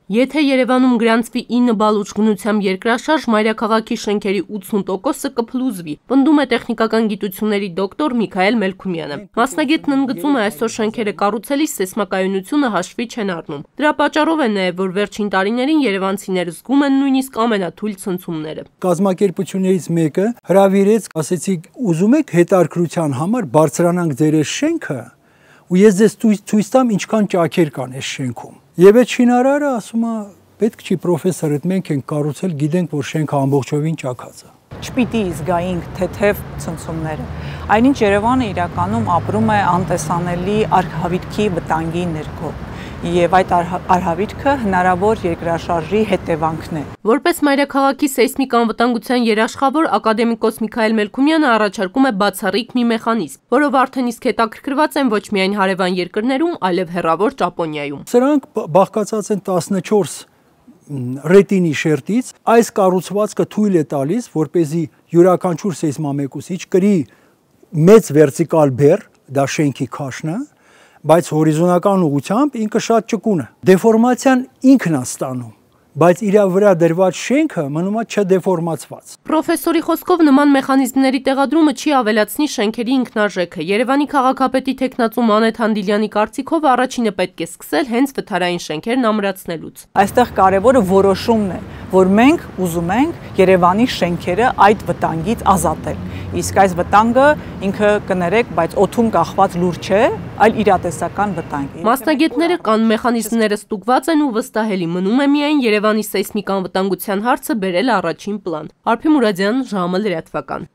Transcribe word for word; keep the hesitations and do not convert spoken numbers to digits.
Եթե Երևանում գրանցվի ինը բալ ուժգնությամբ երկրաշարժ, մայրաքաղաքի շենքերի ութսուն տոկոսը կփլուզվի, պնդում է տեխնիկական գիտությունների դոկտոր Միքայել Մելքումյանը։ Մասնագետն ընդգծում է, այսօր շենքերը կառուցելիս սեյսմակայունությունը հաշվի չեն առնում։ Դրա պատճառով է նաև, որ վերջին տարիներին երևանցիները զգում են նույնիսկ ամենաթույլ ցնցումները։ Կազմակերպություններից մեկը հրավիրեց, ասեցիք, ուզում եք հետարքրության համար բարձրանանք ձեր շենքը, ու ես ձեզ ցույց տամ ինչքան ճաքեր կան այս շենքում։ Եվ այդ շինարարը ասում է, պետք չի պրոֆեսոր, այդ մենք ենք կառուցել, գիտենք, որ շենքը ամբողջովին ճաքած է։ Չպիտի զգայինք թեթև ցնցումները։ Այնինչ Երևանը իրականում ապրում է անտեսանելի արհավիրքի վտանգի ներքո։ Եվ այդ արհավիրքը հնարավոր երկրաշարժի հետևանքն է։ Որպես մայրաքաղաքի սեյսմիկ անվտանգության երաշխավոր ակադեմիկոս Միքայել Մելքումյանը առաջարկում է բացառիկ մի մեխանիզմ, որով արդեն իսկ հետաքրքրված են ոչ միայն հարևան երկրներում, այլև հեռավոր Ճապոնիայում։ Սրանք բաղկացած են տասնչորս ռետինի շերտից, այս կառուցվածքը թույլ է տալիս, որպեսզի յուրաքանչյուր սեյսմամեկուսիչ կրի մեծ վերտիկալ բեռ, դա շենքի քաշն է, բայց հորիզոնական ուղղությամբ ինքը շատ ճկուն է։ Դեֆորմացիան ինքն է ստանում, բայց իր վրա դրված շենքը մնում է չդեֆորմացված։ Պրոֆեսորի խոսքով նման մեխանիզմների տեղադրումը չի ավելացնի շենքերի ինքնարժեքը։ Երևանի քաղաքապետի թեկնածու Մանեթ Հանդիլյանի կարծիքով առաջինը պետք է սկսել հենց վթարային շենքերն ամրացնելուց։ Այստեղ կարևորը որոշումն է, որ մենք ուզում ենք Երևանի շենքերը այդ վտանգից ազատել։ Իսկ այս վտանգը ինքը կներեք, բայց օդում կախված լուր չէ, այլ իրատեսական վտանգ։ Մասնագետները կան մեխանիզմները ստուգված են ու վստահելի, մնում է միայն Երևանի սեյսմիկ անվտանգության հարցը բերել առաջին պլան։ Արփի Մուրադյան, ժամը լրատվական։